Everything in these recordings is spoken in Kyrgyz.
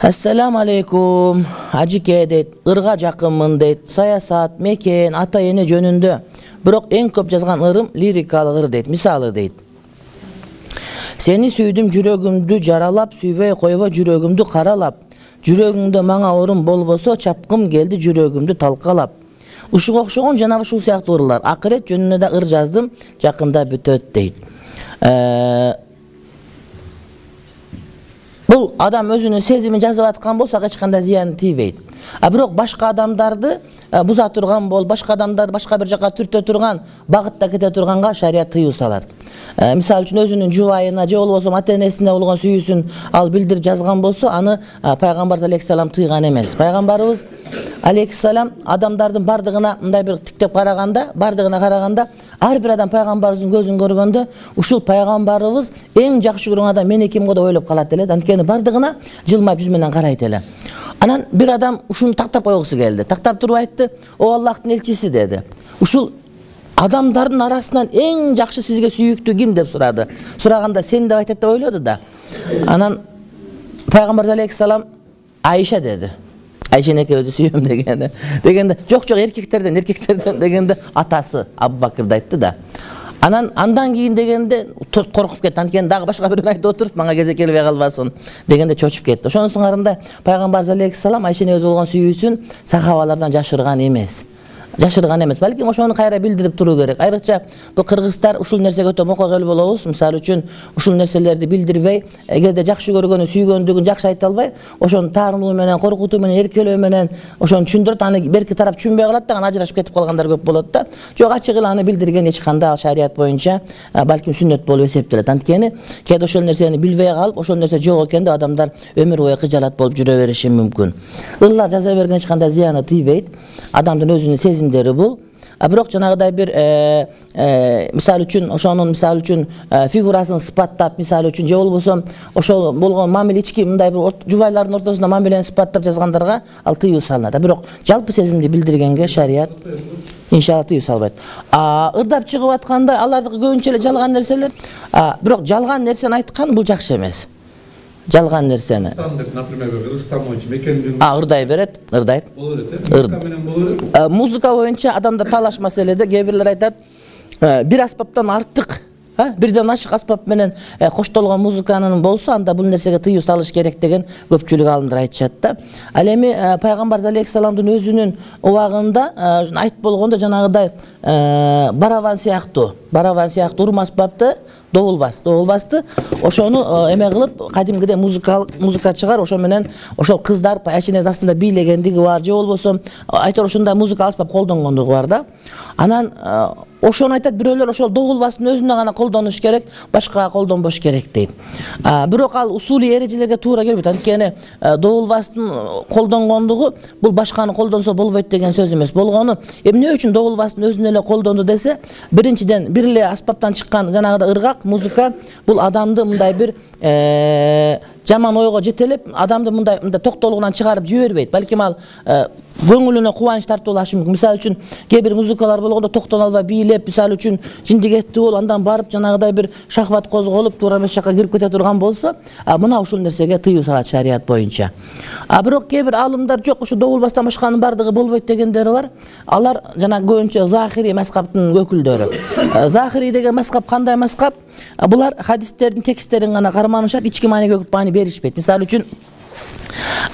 Assalamu alaikum. Ajike deyt, ырга жакынмын дейт. Саясат, мекен, ата эне жөнүндө. Бирок эң көп жазган ырым лирикалык ыр дейт. Мисалы дейт. Сени сүйдүм жүрөгүмдү жаралап, сүйбөй койбо жүрөгүмдү каралап. Жүрөгүңдө мага орун болбосо, чапкым келди жүрөгүмдү талкалап. Ушуга окшогон жана ушул сыяктуу ырлар. Акырет жөнүндө да ыр жаздым, жакында бүтөт дейт. Бул адам өзүнүн сезимин жазып аткан болсо эч кандай зыян тийбейт. Бирок башка адамдарды буза турган бол, башка адамдарды башка бир жака түртө турган, багытта кете турганга шарият тыюу салат. Мисалы үчүн өзүнүн жубайына же болбосо ата энесине болгон сүйүүсүн ал билдирип жазган болсо, аны пайгамбар алейхиссалам тыйган эмес. Пайгамбарыбыз алейхиссалам адамдардын бардыгына мындай бир тиктеп караганда, ар бир адам пайгамбарыбыздын көзүн көргөндө, ушул пайгамбарыбыз эң жакшы көргөн адам мен экенго деп ойлоп калат эле. Анткени бардыгына жылмайып жүз менен карайт эле. Анан бир адам ушуну тактап койгусу келди. Тактап туруп айтты: "О Аллахтын элчиси" деди. "Ушул адамдардын арасынан эң жакшы сизге сүйүктүү ким?" деп сурады. Сураганда "Сен" деп айтат деп ойлоду да. Анан пайгамбар алейхиссалам "Айша" деди. Айшени экөөбүздү сүйөм дегенде жок эркектерден дегенде атасы Абу Бакырды айтты да. Андан кийин дегенде коркуп кетти. Анткени дагы башка бирөө айтып отуруп, мага кезек келбей калбасын дегенде чочуп кетти. Ошонун арында пайгамбар алейхиссалам Айшени өзү болгон сүйүүсүн сахабалардан жашырган эмес. Балким ошону кайра билдирип туруу керек. Айрыкча бул кыргыздар ушул нерсеге өтө мокогел болобуз. Мисалы үчүн ушул нерселерди билдирбей, эгерде жакшы көргөнү, сүйгөндүгүн жакшы айта албай, ошону таарынуу менен, коркутуу менен, эркелөө менен ошону түшүндүрөт. Аны берки тарап түшүнбөй калат да, ажырашып кетип калгандар көп болот да. Жок, ачык эле аны билдирген эч кандай ал шарият боюнча балким сүннөт болуп эсептелет. Анткени кээде ошол нерсени билбей калып, ошол нерсе жок экен деп адамдар өмүр бою кыжалат болуп жүрө бериши мүмкүн. Ырлар жаза берген эч кандай зыяны тийбейт. Адамдын өзүнүн сезимдери бул. Бирок жанагыдай бир мисалы үчүн фигурасын сыпаттап, мисалы үчүн же болбосо ошол болгон мамиле ички мындай бир жубайлардын ортосунда мамилени сыпаттап жазгандарга ал тыюу салынат. Бирок жалпы сезимди билдиргенге шарият иншалла тыюу салбайт. Ырдап чыгып атканда алардыкы көбүнчө эле жалган нерселер. Бирок жалган нерсени айткан бул жакшы эмес. Жалган нерсени. Например, Кыргызстан боюнча мекендин ырдай берет. Музыка боюнча адамдар талаш маселеде кээ бирлер айтат, бир аспаптан артык, бирден ашык аспап менен коштолгон музыканын болсо, анда бул нерсеге тыюу салыш керек деген көпчүлүк алымдар айтышат да. Ал эми пайгамбар алейхиссаламдын өзүнүн убагында айтып болгондо жанагыдай барабан сыяктуу урма аспапты добулбасты ошону эме кылып кадимгидей музыка чыгар, ошо менен ошол кыздар Айшенин астында бийлегендиги бар, же болбосо айтор ушундай музыка аспап колдонгондугу бар да. Анан ошону айтат бирөөлөр, ошол добулбастын өзүнө гана колдонуш керек, башкага колдонбош керек дейт. Бирок ал усулий эрежелерге туура келбейт. Анткени добулбастын колдонгондугу бул башканы колдонсо болбойт деген сөз эмес. Болгону эмне үчүн добулбастын өзүнө эле колдонду десе, биринчиден бир эле аспаптан чыккан жанагыда ыргак музыка бул адамды мындай бир жаман ойго жетелеп, адамды мындай токтолугунан чыгарып жибербейт. Балким ал көңүлүнө кубаныч тартуулашы мүмкүн. Мисалы үчүн кээ бир музыкалар болгондо токтоно албай бийлеп, мисалы үчүн жиндигеттүү болуп, андан барып жанагыдай бир шахват козголуп, туура эмес жакка кирип кете турган болсо, мына ушул нерсеге тыюу салат шарият боюнча. Бирок кээ бир алымдар жок, ушу добулбастан башканын бардыгы болбойт дегендери бар. Алар жана көбүнчө захири мазхабтын өкүлдөрү. Захири деген мазхаб кандай мазхаб? Булар хадистердин тексттерин гана карманышат, ички мааниге маани беришпейт. Мисалы үчүн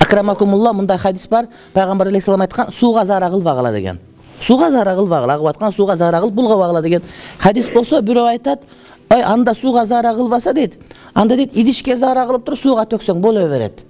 Акрамакумулла мындай хадис бар. Пайгамбар алейхиссалам айткан: "Сууга заара кылбагыла" деген. Сууга заара кылбагыла, агып аткан сууга заара кылып булгабагыла деген хадис болсо, бирөө айтат: "Ой, анда сууга заара кылбаса" дейт. Анда дейт, идишке заара кылып туруп сууга төксөң боло берет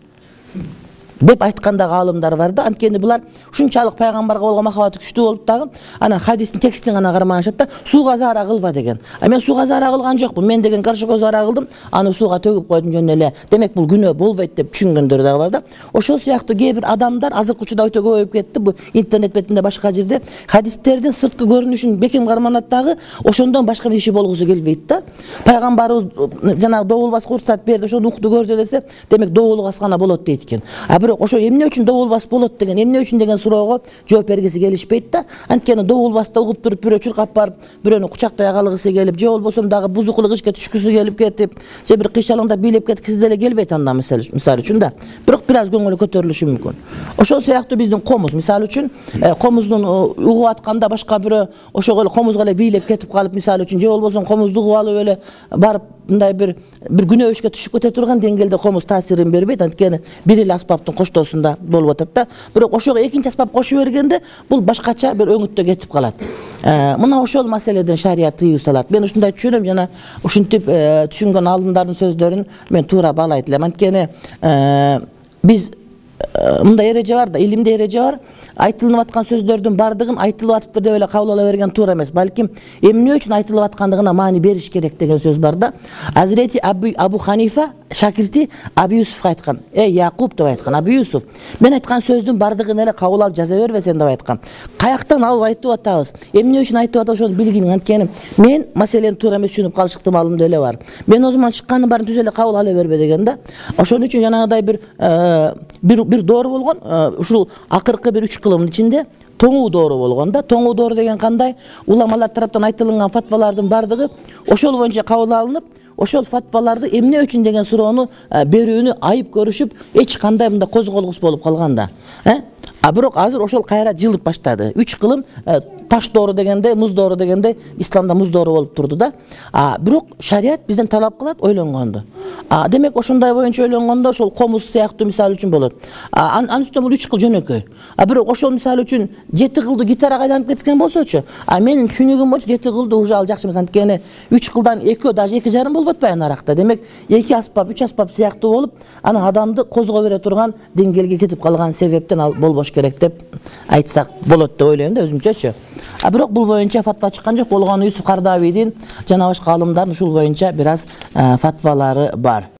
деп айткандагы алымдар бар да. Анткени булар ушунчалык пайгамбарга болгон махабаты күчтүү болуп дагы анан хадистин текстин гана карманышат да, сууга заара кылба деген. Мен сууга заара кылган жокмун. Мен деген горшокко заара кылдым, аны сууга төгүп койдум жөн эле. Демек бул күнөө болбойт деп түшүнгөндөр дагы бар да. Ошол сыяктуу кээ бир адамдар азыркы учурда өтө көбөйүп кетти. Бу интернет бетинде башка жерде хадистердин сырткы көрүнүшүн бекем карманат дагы, ошондон башка бир иши болгусу келбейт да. Пайгамбарыбыз жанагы добулбаска уруксат берди, ошону укту көрдү десе, демек добулбас гана болот дейт экен. бирок ошо эмне үчүн добулбас болот деген, эмне үчүн деген суроого жооп бергиси келишпейт да. Анткени добулбаста угуп туруп бирөө чуркап барып, бирөөнү кучактай калгысы келип, же болбосо дагы бузукулук ишке түшкүсү келип кетип, же бир кыйшалыңда бийлеп кеткиси деле келбейт анда мисалы үчүн да. Бирок бир аз көңүлү көтөрүлүшү мүмкүн. Ошол сыяктуу биздин комуз мисалы үчүн комуздун угуп атканда башка бирөө ошого эле комузга эле бийлеп кетип калып мисалы үчүн, же болбосо комузду угуп алып эле барып мындай бир күнөө ишке түшүп кете турган деңгээлде комуз таасирин бербейт. Анткени бир эле аспаптын коштоосунда болуп атат да. Бирок ошого экинчи аспап кошуп бергенде бул башкача бир өңүттө кетип калат. Мына ошол маселеден шарият тыюу салат. Мен ушундай түшүнөм, жана ушинтип түшүнгөн алдымдардын сөздөрүн мен туура баалайт элем. Анткени биз мындай эреже бар да, илимде эреже бар. Айтылып аткан сөздөрдүн бардыгын айтылып атыптыр деп эле кабыл ала берген туура эмес. Балким эмне үчүн айтылып аткандыгына маани бериш керек деген сөз бар да. Азирети Абу Ханифа шакирти Абу Юсуф айткан. Якуб деп айткан. Абу Юсуф, мен айткан сөздүн бардыгын эле кабыл алып жаза бербесең деп айткан. Каяктан алып айтып атабыз? Эмне үчүн айтып атабыз ошону билгин. Анткени мен маселени туура эмес түшүнүп калыш ыктымалым деле бар. Мен о zaman чыккандын баарын түз эле кабыл ала бербе деген да. Ошон үчүн жанагыдай бир доору болгон, ушул акыркы бир 3 кылымдын ичинде тоңуу доору болгон да. Тоңуу доору деген кандай? Уламалар тараптан айтылган фатвалардын бардыгы ошол боюнча кабыл алынып, ошол фатваларды эмне үчүн деген суроону берүүнү айып көрүшүп, эч кандай мындай козголгус болуп калган да. Бирок азыр ошол кайра жылып баштады. 3 кылым таш доору дегенде, муз доору дегенде исламда муз доору болуп турду да. Бирок шарият бизден талап кылат ойлонгонду. Демек ошондой боюнча ойлонгондо ошол комуз сыяктуу мисалы үчүн болот. Анын үстүнө бул 3 кыл жөнөкөй. Бирок ошол мисалы үчүн 7 кылды гитарага айланып кеткен болсочу, менин түшүнүгүм боюнча 7 кылды уже ал жакшы эмес. Анткени 3 кылдан 2 даже 2,5 болуп атпайбы аракта. Демек 2 аспап, 3 аспап сыяктуу болуп, анан адамды козго бере турган деңгээлге кетип калган себептен ал болбош керек деп айтсак болот деп ойлойм да өзүмчөчү. Бирок бул боюнча фатва чыккан жок. Болгону Юсуф Кардавийдин жана башка аалымдардын ушул боюнча бир аз фатвалары бар.